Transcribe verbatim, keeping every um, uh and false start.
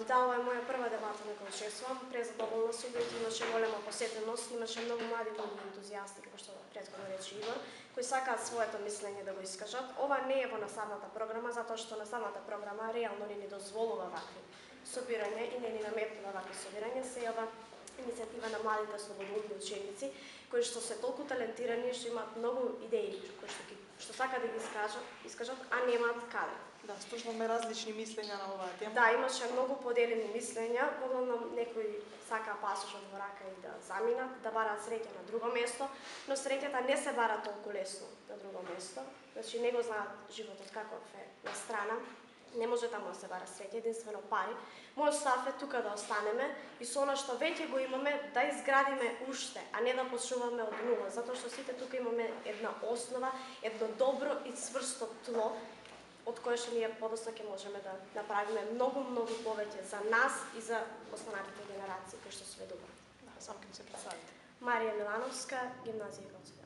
Да, ова е моја прва дебата на која учествувам. Презадоволна сум, имаше голема посетеност, имаше многу млади луѓе ентузијасти, како што претходно рече Игор, кои сакаат своето мислење да го искажат. Ова не е во наставната програма, затоа што наставната програма реално не ни дозволува вакви собирања и не ни наметнува вакви собирања. Се ова иницијатива на младите слободолюбни ученици, кои што се толку талентирани, што имаат многу идеи, кои што, што сакаат да ги искажат, искажат, а немаат каде. Да, слушнавме различни мислења на оваа тема. Да, имаше многу поделени мислења, главно некои сакаа пасошот во рака и да заминат, да бараат среќа на друго место, но среќата не се бара толку лесно на друго место. Значи не го знаат животот каков е на страна. Не може таму да се бара среќа, единствено пари. Мојот став е тука да останеме и со она што веќе го имаме да изградиме уште, а не да почнуваме од нула, затоа што сите тука имаме една основа, едно добро и цврсто тло, од кое што ние подоцна ќе можеме да направиме многу, многу повеќе за нас и за останатите генерации кои што следуваат. Да, само ќе се представите. Марија Милановска, гимназија Гоце.